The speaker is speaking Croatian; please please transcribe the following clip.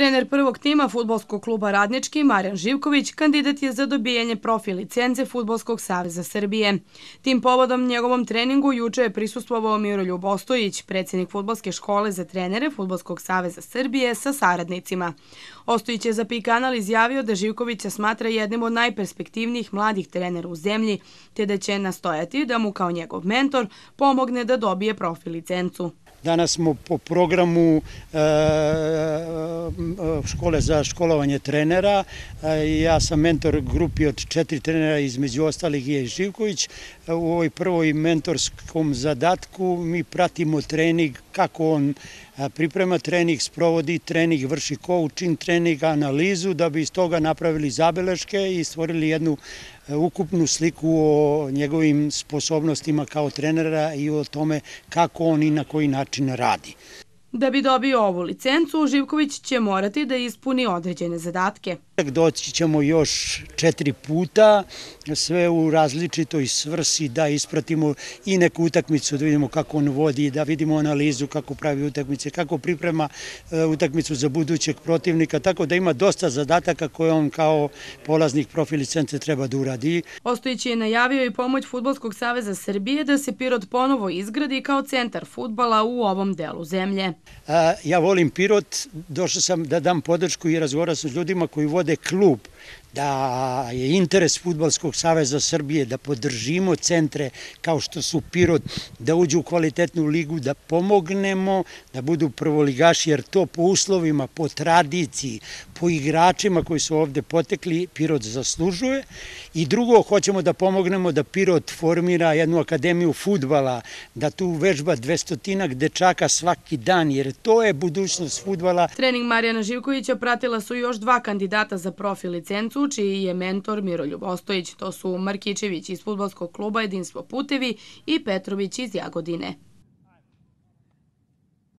Trener prvog tima fudbalskog kluba Radnički, Marijan Živković, kandidat je za dobijanje profi licence Fudbalskog saveza Srbije. Tim povodom njegovom treningu juče je prisustvovao Miroljub Ostojić, predsjednik Fudbalske škole za trenere Fudbalskog saveza Srbije sa saradnicima. Ostojić je za PIK kanal izjavio da Živkovića smatra jednim od najperspektivnijih mladih trenera u zemlji, te da će nastojati da mu kao njegov mentor pomogne da dobije profi licencu. Danas smo po programu škole za školovanje trenera. Ja sam mentor grupi od 4 trenera, između ostalih je Živković. U ovoj prvoj mentorskom zadatku mi pratimo trening, kako on priprema trening, sprovodi trening, vrši coaching trening, analizu, da bi iz toga napravili zabeleške i stvorili jednu ukupnu sliku o njegovim sposobnostima kao trenera i o tome kako on i na koji način radi. Da bi dobio ovu licencu, Živković će morati da ispuni određene zadatke. Doći ćemo još 4 puta, sve u različitoj svrsi, da ispratimo i neku utakmicu, da vidimo kako on vodi, da vidimo analizu kako pravi utakmice, kako priprema utakmicu za budućeg protivnika, tako da ima dosta zadataka koje on kao polaznik profi licence treba da uradi. Ostojić je najavio i pomoć Fudbalskog saveza Srbije da se Pirot ponovo izgradi kao centar fudbala u ovom delu zemlje. Ja volim Pirot, došao sam da dam podršku i razgovarao sam s ljudima koji vode klub, da je interes Fudbalskog saveza Srbije da podržimo centre kao što su Pirot, da uđu u kvalitetnu ligu, da pomognemo da budu prvoligaši, jer to po uslovima, po tradiciji, po igračima koji su ovde potekli, Pirot zaslužuje. I drugo, hoćemo da pomognemo da Pirot formira jednu akademiju fudbala, da tu vežba 200 dečaka svaki dan, jer to je budućnost fudbala. Trening Marijana Živkovića pratila su još 2 kandidata za profi licencu, čiji je mentor Miroljub Ostojić. To su Markićević iz Fudbalskog kluba Jedinstvo Putevi i Petrović iz Jagodine.